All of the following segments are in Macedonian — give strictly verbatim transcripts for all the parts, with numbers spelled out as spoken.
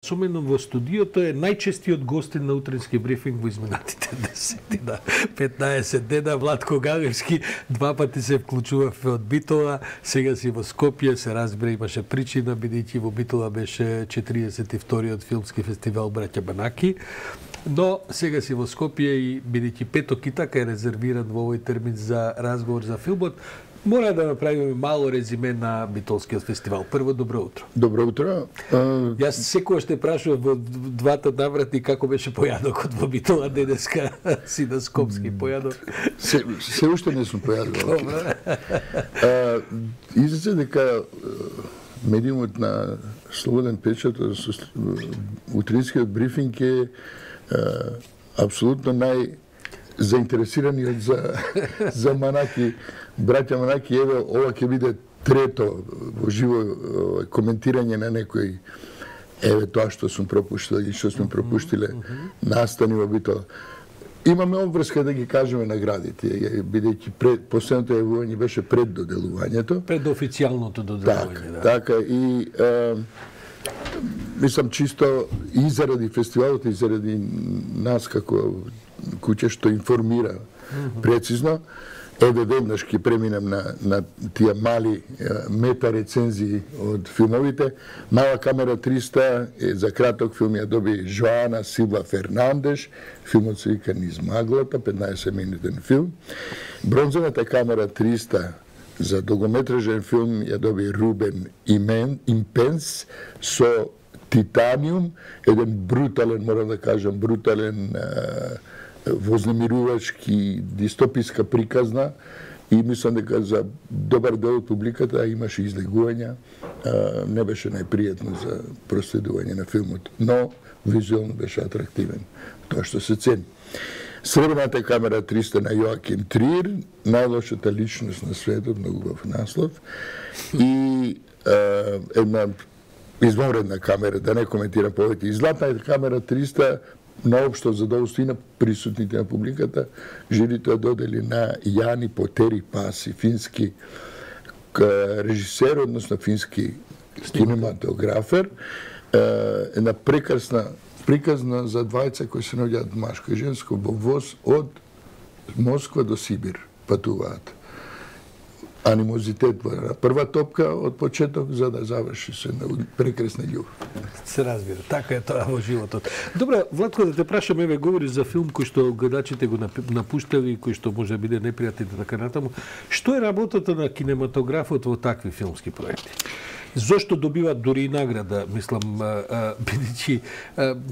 Со мене во студиото е најчестиот гостин на утрински брифинг во изминатите десет на петнаесет дена. Владко Галевски два пати се вклучува од Битола, сега си во Скопје, се разбира имаше причина, бидејќи во Битола беше четириесет и вториот филмски фестивал Браќа Банаки. Но сега си во Скопје и бидејќи петок и така е резервиран во овој термин за разговор за филмот, мора да направиме мало резиме на Битолскиот фестивал. Прво, добро утро. Добро утро. Uh... Јас секогаш те прашувам во двата наврати како беше појадокот во Битола, денеска си на скопски појадок. Се, се уште не сум појадок. uh, Излезе дека медиумот на Слободен печат, утринскиот брифинг е uh, апсолутно нај заинтересираниот за за Манаки, браќа Манаки. Еве, ова ќе биде трето во живо коментирање на некој, еве тоа што сум пропуштил и што сме пропуштиле настани во Битола. Имаме обврска да ги кажеме наградите, бидејќи пред последното јавување беше пред доделувањето, пред официјалното доделување. Так, да. Така и е, мислам чисто и заради фестивалот и заради нас како куќе што информира прецизно, еве веднаш ќе преминем на, на тие мали мета рецензии од филмовите. Мала камера триста е, за краток филм ја доби Жоана Силва Фернандеш, филмот се вика Низ маглата, петнаесет минутен филм. Бронзовата камера триста за долгометражен филм ја доби Рубен Имен, Импенс со Титаниум, еден брутален, морам да кажам, брутален вознемирувачки дистописка приказна, и мислам дека за добар дел од публиката имаше излегувања, не беше најпријатно за проследување на филмот, но визуелно беше атрактивен, тоа што се цени. Сребрената камера триста на Јоаким Триер, најлошата личност на светот, многу убав наслов, и е, една извонредна камера, да не коментирам повеќе. И златната камера триста, наопшто задоволство и на присутните на публиката, жирито ја додели на Јани Потери Паси, фински режисер, односно фински кинематографер, една прекрасна приказна за двајца кои се наоѓаат машко и женско во воз од Москва до Сибир патуваат. Анимозитет на прва топка од почеток за да заврши се на прекрасна љубов. Се разбира, така е тоа во животот. Добре, Владко, да те прашам, еве говориш за филм кој што гледачите го напуштали и кој што може да биде непријатен и така натаму. Што е работата на кинематографот во такви филмски проекти? Зошто добиваат дури и награда, мислам, бидејќи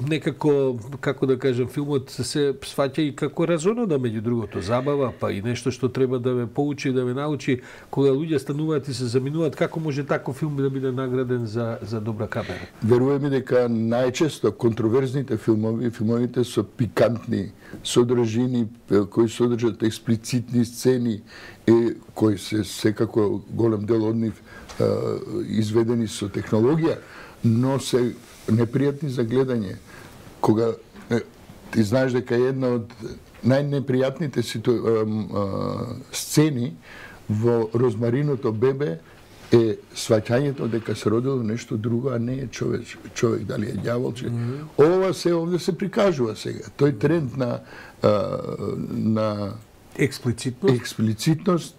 некако, како да кажем, филмот се сваќа и како разонода, меѓу другото, забава, па и нешто што треба да ме поучи, да ме научи, кога луѓе стануваат и се заминуваат, како може таков филм да биде награден за, за добра камера? Веруваме дека најчесто контроверзните филмови, филмовите со пикантни содржини, кои содржат експлицитни сцени, и кои се секако голем дел од нив изведени со технологија, но се непријатни за гледање. Кога ти знаеш дека една од најнепријатните ситу... сцени во Розмариното бебе е сваќањето дека се родило нешто друго, а не е човек, човек дали е ѓаволче. Mm -hmm. Ова се овде се прикажува сега. Тој тренд на на експлицитност, експлицитност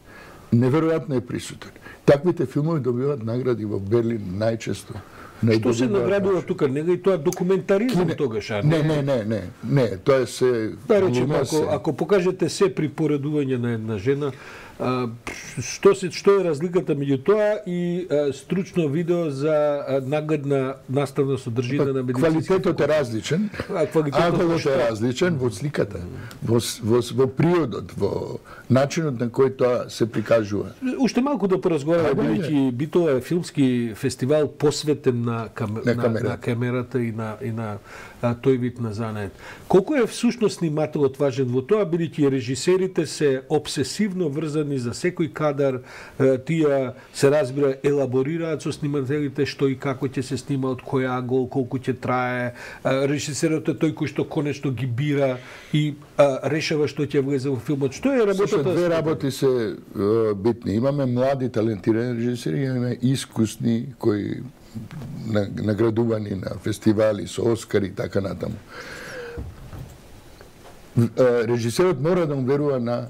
неверојатно е присутен. Таквите филмови добиваат награди во Берлин најчесто. Што се наградува тука? Не и тоа документаризм Кине... тогаш, а не? Не, не, не, не, тоа се... Да речем, ако, ако покажете се при поредување на една жена, а, што, се, што е разликата меѓу тоа и а, стручно видео за а, наградна наставна содржина па, на медицински... Квалитетот е различен, а квалитетот е различен во сликата, во, во, во приодот, во начинот на кој тоа се прикажува. Уште малку да поразговараме, бидејќи Битола е филмски фестивал посветен на, кам... на, камера. на камерата и на, и на а, тој вид на занает. Колку е всушност снимателот важен во тоа, бидејќи режисерите се обсесивно врзани за секој кадар, тие се разбира елаборираат со снимателите што и како ќе се снима, од кој ангол, колку ќе трае. Режисерот е тој кој што конечно ги бира и а, решава што ќе влезе во филмот. Што е работата? Две работи се битни. Имаме млади талентирани режисери, имаме искусни кои наградувани на фестивали со Оскари и така натаму. Режисерот мора да му верува на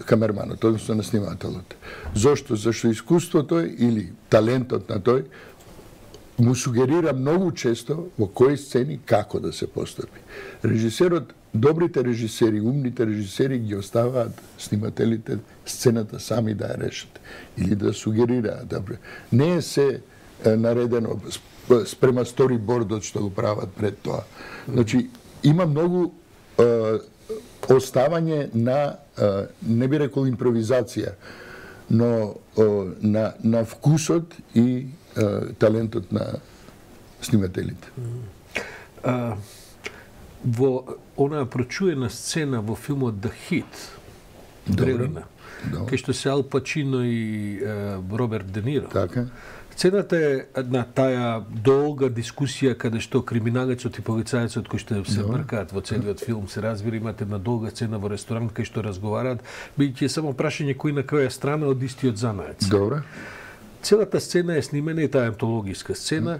камерманот, односно на снимателот. Зошто? Зашто искуството или талентот на тој му сугерира многу често во кои сцени како да се постапи. Режисерот, добрите режисери, умните режисери ги оставаат снимателите сцената сами да ја решат или да сугерираат. Не е се наредено спрема сторибордот што го прават пред тоа. Значи, има многу е, оставање на, е, не би рекол импровизација, но е, на, на вкусот и е, талентот на снимателите. А, во онаа прочуена сцена во филмот The Hit, Дрелина, кај што се Ал Пачино и е, Роберт Де Ниро. Така. Сцената е на таа долга дискусија каде што криминалецот и полицајецот кои што се бркаат во целиот филм се разбира, имате една долга сцена во ресторант кај што разговараат, бидејќи е само прашање кој на која страна од истиот занаец. Добро. Целата сцена е снимена и таа антологиска сцена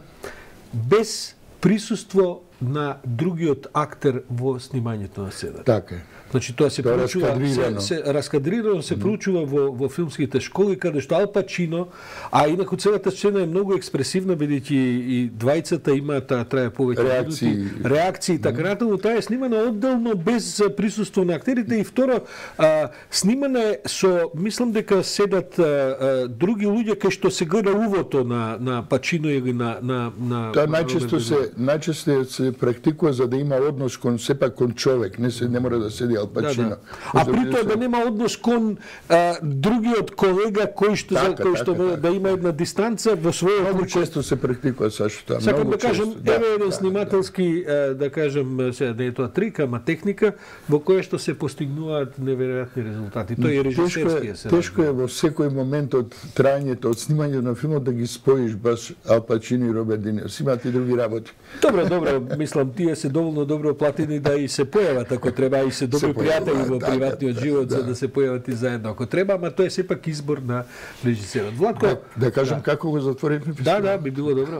без присуство на другиот актер во снимањето на сцената. Така е. Значи тоа се Тоа проучува, раскадрирано. се, се раскадрирано се проучува во во филмските школи каде што Ал Пачино, а инаку целата сцена е многу експресивна бидејќи и двајцата имаат трае повеќе реакции, минути, реакции така натаму. Таа е снимана одделно без присуство на актерите и второ а, снимана е со, мислам дека седат а, а, други луѓе кај што се гледа увото на на Пачино или на на на Тоа најчесто се најчесто се практикува за да има однос кон сепак кон човек, не се не мора да седи Ал Пачино. Да, да. А при тоа да нема однос кон а, другиот колега кој што така, за кој што така, да, така. да има една дистанца во својот. Многу често се практикува сашто тоа. Сакам многу да кажем, често, еве еден да, снимателски, да, да кажем, се не е тоа трик, ама техника во која што се постигнуваат неверојатни резултати. Тој е режисерскиот се. Тешко е во секој момент од трајањето, од снимањето на филмот да ги споиш баш Ал Пачино и Роберт Де Ниро. Си имаат и други работи. Добро, добро, мислам тие се доволно добро платени да и се појават ако треба, и се добри пријатели во да, приватниот да, живот да. за да се појават и заедно ако треба, ама тоа е сепак избор на режисерот. Владко, Да, да кажем како го затворивме да, фестивалот. да, би било добро.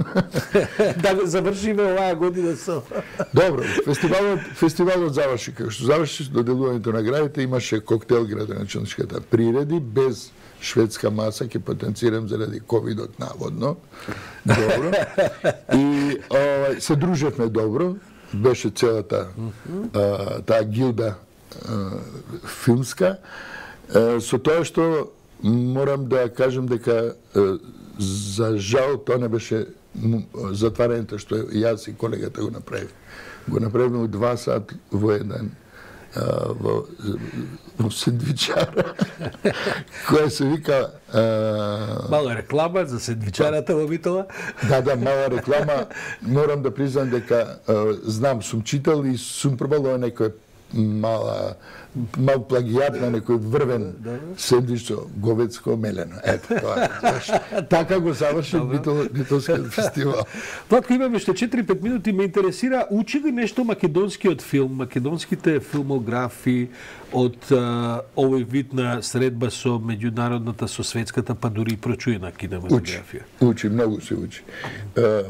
Да го завршиме оваа година со. Добро, фестивалот фестивалот заврши како што заврши доделувањето на наградите, имаше коктел градоначалничката приреди без шведска маса, ќе потенцирам заради ковидот наводно. Добро. И о, се дружевме добро, беше целата а, таа гилда а, филмска. А, со тоа што морам да кажем дека а, за жал тоа не беше затварањето што јас и колегата го направив. Го направивме у два сат во еден а, во, во сендвичара, која се вика... А... Мала реклама за сендвичарата во Битола. Да, да, мала реклама. Морам да признам дека а, знам, сум читал и сум пробал ова некој мала мал плагијат на некој врвен сендвич со говедско мелено. Ето, тоа е. Така го заврши Битол, Битолскиот фестивал. Владко, имаме уште четири-пет минути, ме интересира, учи ли нешто македонскиот филм, македонските филмографи од а, овој вид на средба со меѓународната, со светската, па дури и прочуена кинематографија? Учи, учи, многу се учи. Е,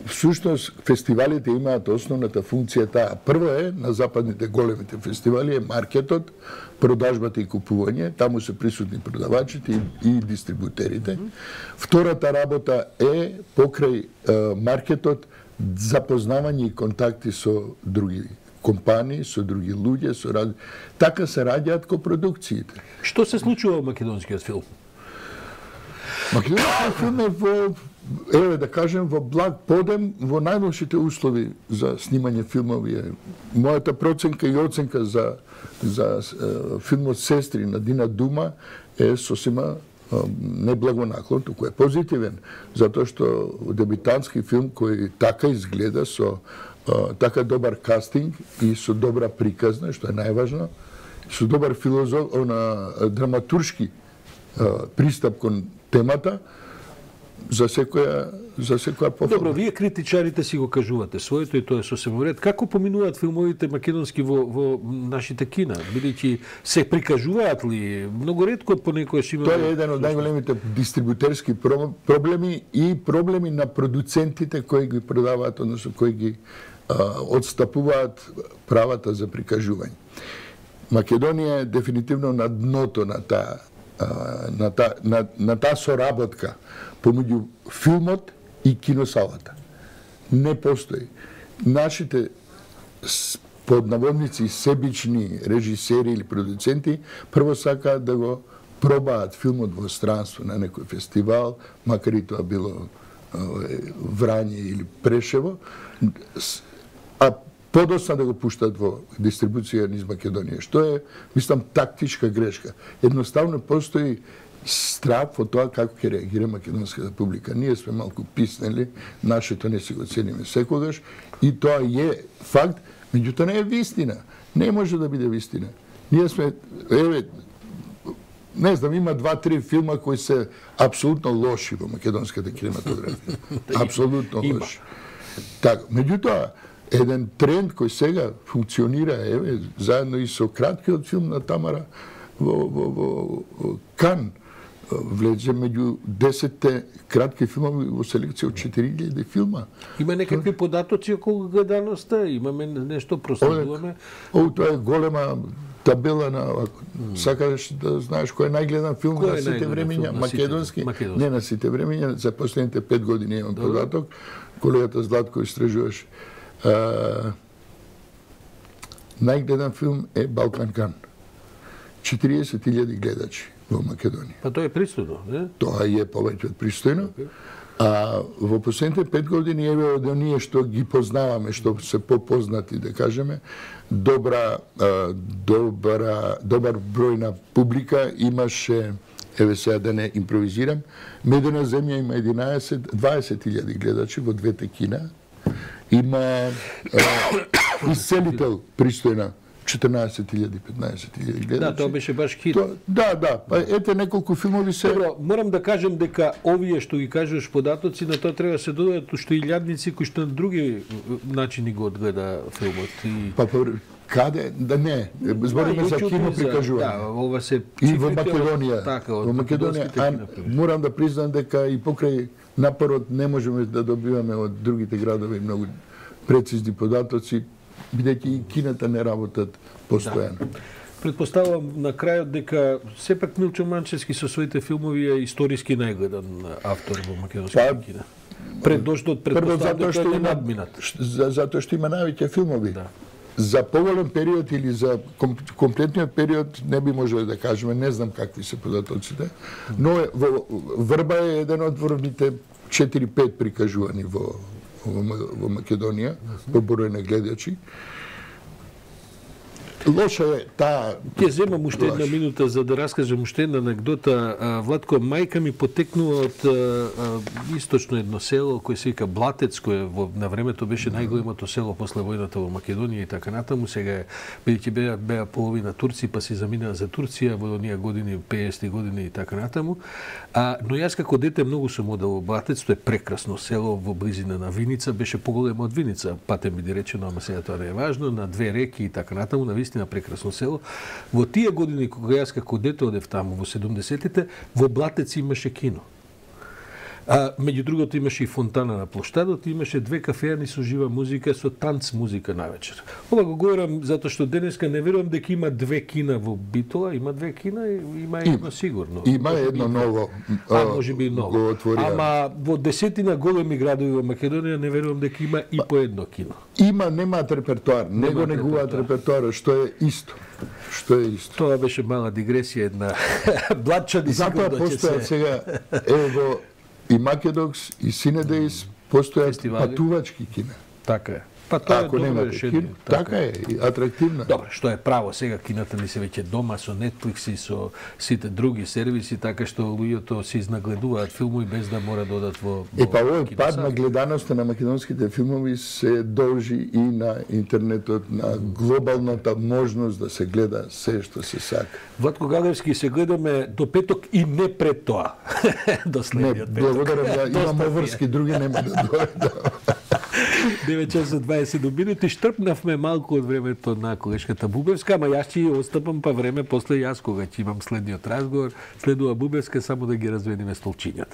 всушност, фестивалите имаат основната функција таа. Прво е, на западните големите фестивали е маркетот, продажбата и купување, таму се присутни продавачите и, и дистрибутерите. Втората работа е покрај е, маркетот запознавање и контакти со други компании, со други луѓе, со ради... така се раѓаат копродукциите. Што се случува во македонскиот филм? Македонскиот филм е во, еве да кажем, во благ подем, во најлошите услови за снимање филмови. Мојата проценка и оценка за за е, филмот Сестри на Дина Дума е сосема е, неблагонаклон, туку е позитивен, затоа што дебитантски филм кој така изгледа со е, така добар кастинг и со добра приказна, што е најважно, со добар филозоф, на драматуршки е, пристап кон темата, за секоја за секоја пофала. Добро, вие критичарите си го кажувате своето и тоа е сосем во ред. Како поминуваат филмовите македонски во, во нашите кина? Бидејќи се прикажуваат ли? Многу ретко понекогаш има. Тоа е еден од најголемите дистрибутерски проблеми и проблеми на продуцентите кои ги продаваат, односно кои ги а, отстапуваат правата за прикажување. Македонија е дефинитивно на дното на таа на таа на, на таа соработка помеѓу филмот и киносалата. Не постои. Нашите под наводници себични режисери или продуценти прво сакаат да го пробаат филмот во странство на некој фестивал, макар и тоа било Врање или Прешево, а подоцна да го пуштат во дистрибуција низ Македонија, што е, мислам, тактичка грешка. Едноставно постои страх во тоа како ќе реагира македонската публика. Ние сме малку писнели, нашето не си го цениме секогаш и тоа е факт, меѓутоа не е вистина. Не може да биде вистина. Ние сме, еве, не знам, има два-три филма кои се апсолутно лоши во македонската кинематографија. Апсолутно лоши. Така, меѓутоа, еден тренд кој сега функционира, еве, заедно и со краткиот филм на Тамара во, во, во Кан, влезе меѓу десетте кратки филмови во селекција од четири илјади филма. Има некакви податоци околу гледаноста? Имаме нешто, проследуваме? Ово, тоа е голема табела на... Mm. Сакаш да знаеш кој е најгледан филм кој на сите времења? Македонски? Македонски? Не на сите времења, за последните пет години имам податок. Колегата Златко истражуваш. Uh, најгледан филм е Балкан Кан. четириесет илјади гледачи во Македонија. Па тоа е пристојно, не? Тоа е повеќе од пристојно. Okay. А во последните пет години еве од оние што ги познаваме, што се попознати, да кажеме, добра а, добра добар број на публика имаше, еве сега да не импровизирам, Медена земја има единаесет дваесет илјади гледачи во двете кина. Има Исцелител пристојна четрнаесет илјади петнаесет илјади гледачи. Да, тоа беше баш хит. То, да, да, па ете неколку филмови се. Добро, морам да кажем дека овие што ги кажуваш податоци, на тоа треба се додадат уште илјадници кои што на други начини го одгледа филмот. И... Па, па каде? Да не, збориме да, за кино прикажување. Да, ова се и во Македонија. Така, во Македонија, а морам да признам дека и покрај напорот не можеме да добиваме од другите градови многу прецизни податоци, бидејќи и кината не работат постојано. Да. Предпоставувам на крајот дека сепак Милчо Манчевски со своите филмови е историски најгледан автор во македонската па, кина. Пред дошло предпоставувам дека е надминат. Затоа што има највеќе филмови. Да. За поголем период или за комплетниот период не би можеле да кажеме, не знам какви се податоците, но е, во, Врба е еден од врвните четири-пет прикажувани во, во, во Македонија, по број на гледачи. Лоша е таа... Ќе земам уште една минута за да раскажам уште една анегдота. Владко, мајка ми потекнува од источно едно село кој се вика Блатец, кој во, на времето беше најголемото село после војната во Македонија и така натаму. Сега бидејќи беа, беа половина турци, па се заминаа за Турција во оние години, пеесетти години и така натаму. А, но јас како дете многу сум одел во Блатец, тоа е прекрасно село во близина на Виница, беше поголемо од Виница, патем биде речено, ама сега тоа не е важно, на две реки и така натаму, на на прекрасно село. Во тие години кога јас како дете одев таму во седумдесеттите, во Блатец имаше кино. А меѓу другото имаше и фонтана на плоштадот, имаше две кафеани со жива музика, со танц музика навечер. Ова го говорам затоа што денеска не верувам дека има две кина во Битола, има две кина и има едно сигурно. Има едно ново. А можеби и ново. Ама во десетина големи градови во Македонија не верувам дека има и по едно кино. Има, немаат репертоар, не го негуваат репертоарот, што е исто. Што е исто. Тоа беше мала дигресија, една блатчани сигурно ќе се... Затоа постојат сега, ево, и Македокс, и Синедејс постојат патувачки кина. Така е. Па тоа е Ако добро немате решение. кино, така е, и атрактивна. Добро, што е право, сега кината ни се веќе дома со Netflix и со сите други сервиси, така што луѓето се изнагледуваат филмови без да мора да одат во, во Е, па овој киносали. пад на гледаноста на македонските филмови се должи и на интернетот, на глобалната можност да се гледа се што се сака. Владко Галевски, се гледаме до петок и не пред тоа. До Не, следниот петок. благодарам, да, имам Доста обврски, други нема да дојдат. девет часа дваесет минути, штрпнавме малку од времето на колешката Бубевска, ама јас ќе остапам па време после јас кога ќе имам следниот разговор. Следува Бубевска, само да ги разведиме столчињата.